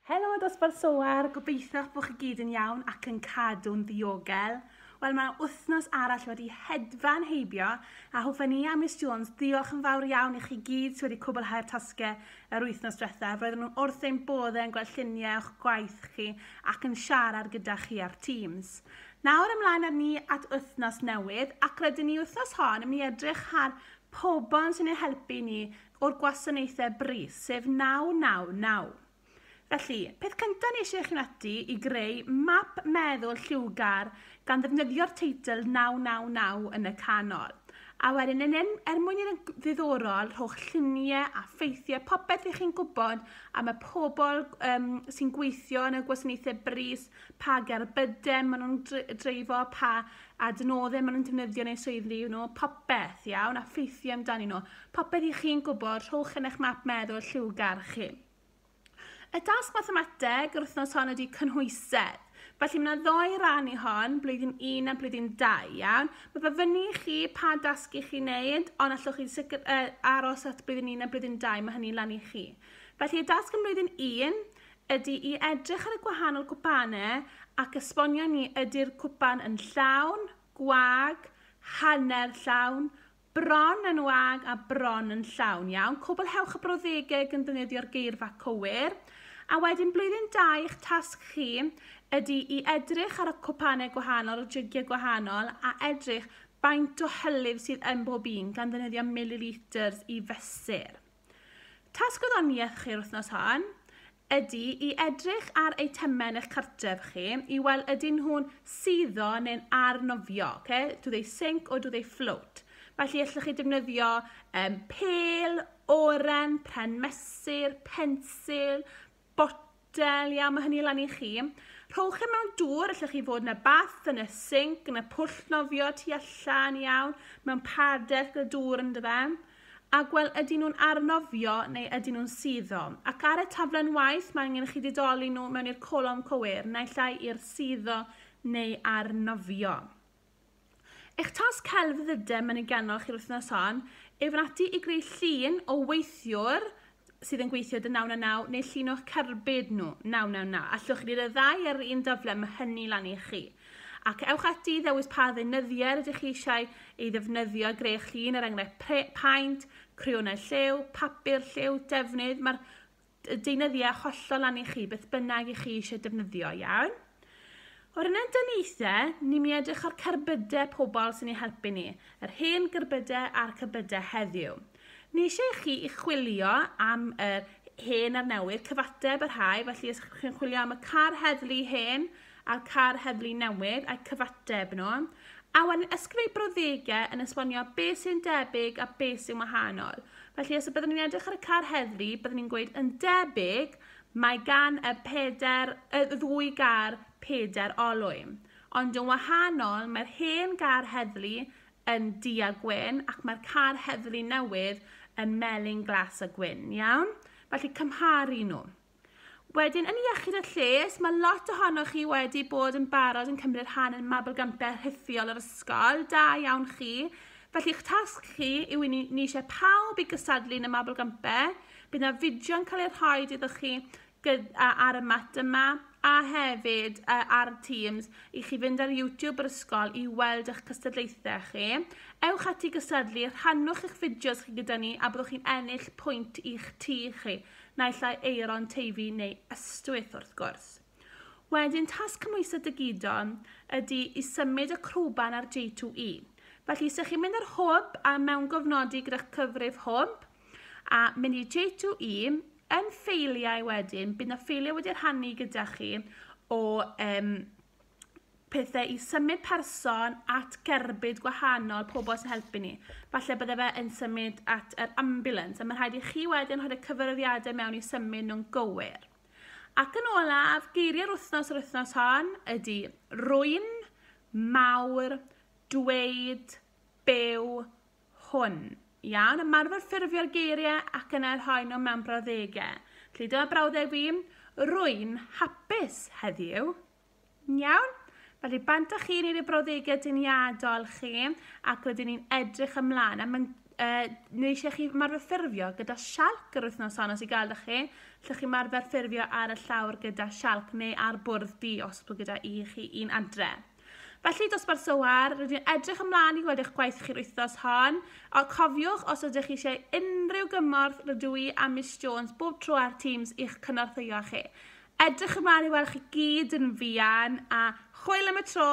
Helo dosbarth Soar, gobeithio bod chi gyd yn iawn ac yn cadw'n ddiogel. Wel, mae wythnos arall wedi hedfan heibio a hoffen ni a Miss Jones ddiolch yn fawr iawn i chi gyd sydd wedi cwblhau'r tasgau yr wythnos diwethaf. Roedden nhw wrth ein boddau yn gweld lluniau o'ch gwaith chi ac yn siarad gyda chi ar Teams. Nawr ymlaen â ni at wythnos newydd ac rydyn ni wythnos hon yn mynd i edrych ar pobl sy'n ein helpu ni o'r gwasanaethau brys, sef 999. Felly, peth cyntaf ni eisiau chi ati i greu map meddwl lliwgar gan ddefnyddio'r teitl 999 yn y canol. A wedyn, yn en, er mwyn i'n ddiddorol, rhowch lluniau a ffeithiau, popeth ych chi'n gwybod am y pobl um, sy'n gweithio yn y gwasanaethau brys, pa gerbydau maen nhw'n dreifo, pa adnoddau maen nhw'n defnyddio neu swyddi nhw, popeth, iawn, a ffeithiau amdanyn nhw. Popeth ych chi'n gwybod, rhowch yn eich map meddwl lliwgar chi. Y dasg mathemateg yr wythnos hon ydy cynhwysedd. Felly mae yna ddoi ran i hon, blwyddyn 1 a blwyddyn 2, iawn? Mae fe fyny i chi pa dasg i chi wneud, ond allwch chi sicr, uh, aros at blwyddyn 1 a blwyddyn 2, mae hynny lan i chi. Felly y dasg yn blwyddyn 1 ydy i edrych ar y gwahanol cwpanau ac esbonio ni ydy'r cwpan yn llawn, gwag, hanner llawn, Bron yn wag a bron yn llawn, iawn. Cwblhewch y brawddegau gan ddefnyddio'r geirfa cywir. A wedyn blwyddyn 2, eich tasg chi ydy i edrych ar y cwpanau gwahanol, y jygiau gwahanol, a edrych faint o hylif sydd yn bob un gan ddefnyddio milliliters i fesur. Tasg gwyddoniaeth chi'r wythnos hon ydy i edrych ar eitemau yn eich cartref chi i weld ydyn nhw'n suddo neu'n arnofio. Okay? Do they sink or do they float? Felly allwch chi defnyddio um, pêl, oren, pren mesur, pensil, botel, iawn, mae hynny lan i chi. Rhowch e mewn dŵr, allwch chi fod yn y bath, yn y sinc, yn y pwll nofio tu allan, iawn, mewn padell gyda dŵr ynddo fe. A gweld ydyn nhw'n arnofio neu ydyn nhw'n suddo. Ac ar y taflen waith mae angen i chi didoli nhw mewn i'r colofn cywir, naill ai i'r suddo neu arnofio. Eich tasg celfyddydau mynegiannol chi'r wythnos hon yw fynd ati i greu llun o weithiwr sydd yn gweithio dy 999 neu llun o'ch cerbyd nhw 999. Allwch chi wneud y ddau ar yr un daflen, mae hynny lan i chi. Ac ewch ati i ddewis pa ddeunyddiau rydych chi eisiau ei ddefnyddio i greu eich llun, er enghraifft paent, creonau lliw, papur lliw, defnydd. Mae'r deunyddiau hollol lan i chi, beth bynnag i chi eisiau defnyddio, iawn? O ran ein dyniaethau, ni'n mynd i edrych ar cerbydau pobl sy'n ei helpu ni, yr hen gerbydau a'r cerbydau heddiw. Ni eisiau i chi i chwilio am yr hen a'r newydd, cyfateb y rhai, felly os chi'n chwilio am y car heddlu hen a'r car heddlu newydd a'i cyfateb nhw, a wedyn ysgrifennu brawddegau yn esbonio beth sy'n debyg a beth sy'n wahanol. Felly os byddwn ni'n edrych ar y car heddlu, byddwn ni'n gweud yn debyg, mae gan y peder, y ddwy gar peder olwyn. Ond yn wahanol, mae'r hen gar heddlu yn du a gwyn ac mae'r car heddlu newydd yn melyn glas a gwyn, iawn? Felly cymharu nhw. Wedyn, yn iechyd a lles, mae lot ohonoch chi wedi bod yn barod yn cymryd rhan yn mabolgampau rhithiol yr ysgol. Da iawn chi. Felly, eich tasg chi yw i ni, ni eisiau pawb i gystadlu yn y mabolgampau. Bydd yna fideo'n cael ei rhoi iddo chi ar y mat yma a hefyd ar Teams i chi fynd ar YouTube yr ysgol i weld eich cystadlaethau chi. Ewch ati gystadlu, rhannwch eich fideos chi gyda ni a byddwch chi'n ennill pwynt i'ch tŷ chi, naill ai Aeron, Teifi neu Ystwyth wrth gwrs. Wedyn, tasg cymhwyso digidol ydy i symud y crwban ar J2E. Felly, os ydych chi'n mynd ar hwb a mewngofnodi gyda'ch cyfrif hwb, a mynd i J2E, yn ffeiliau wedyn, bydd 'na ffeiliau wedi rhannu gyda chi o um, pethau i symud person at gerbyd gwahanol, pobl sy'n helpu ni. Falle bydde fe yn symud at yr ambulance, a mae rhaid i chi wedyn rhoi y cyfarwyddiadau mewn i symud nhw'n gywir. Ac yn olaf, geiriau'r wythnos yr wythnos hon ydy rwy'n, mawr, dweud, byw, hwn. Iawn, ymarfer ffurfio'r geiriau ac yna rhoi nhw mewn brawddegau. Felly dyma brawddeg fi, rwy'n hapus heddiw. Iawn? Felly bant â chi wneud y brawddegau dyniadol chi ac rydyn ni'n edrych ymlaen. A mae'n Neu eisiau chi ymarfer ffurfio gyda sialc yr wythnos hon os i gael ydych chi. Lle chi ymarfer ffurfio ar y llawr gyda sialc neu ar bwrdd du os bod gyda i chi un adre. Felly, dosbarth Soar, rydyn ni'n edrych ymlaen i gweld eich gwaith chi'r wythnos hon. O, cofiwch, os ydych chi eisiau unrhyw gymorth, rydw i a Miss Jones bob tro ar Teams i'ch cynorthwyo chi. Edrych ymlaen i weld chi gyd yn fuan, a hwyl am y tro!